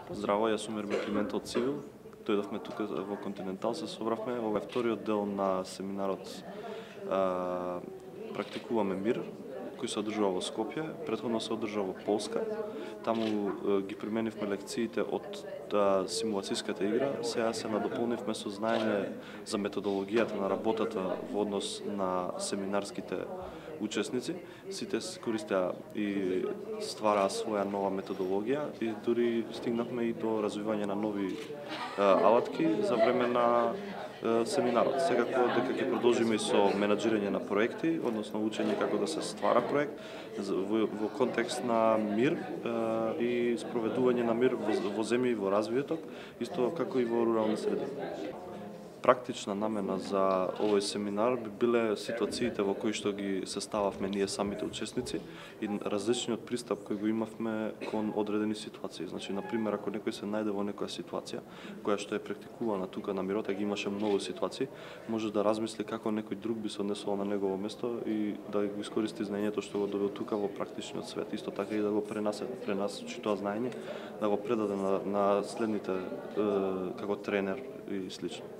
Здраво, јас сум Ермин Климентов Цивил. Дојдовме тука во Континентал, се собравме. Ова е вториот дел на семинарот Практикуваме мир, кој се одржува во Скопје. Претходно се одржува во Полска. Таму ги применивме лекциите од симулацијската игра. Сега се надополнивме со знаење за методологијата на работата во однос на семинарските учесници. Сите користеа и ствараа своја нова методологија и дури стигнавме и до развивање на нови алатки за време на семинарот. Секако дека ќе продолжиме и со менаџирање на проекти, односно учење како да се ствара проект во контекст на мир и спроведување на мир во земји во развиеток, исто како и во рурални средини. Практична намена за овој семинар би биле ситуациите во кои што ги состававме ние самите учесници и различниот пристап кој го имавме кон одредени ситуации. Значи, на пример, ако некој се најде во некоја ситуација која што е практикувана тука на мирот, а ги имаше многу ситуации, може да размисли како некој друг би се однесувал на негово место и да го искористи знаењето што го добил тука во практичниот свет. Исто така и да го пренасочи тоа знаење, да го предаде на следните како тренер и слично.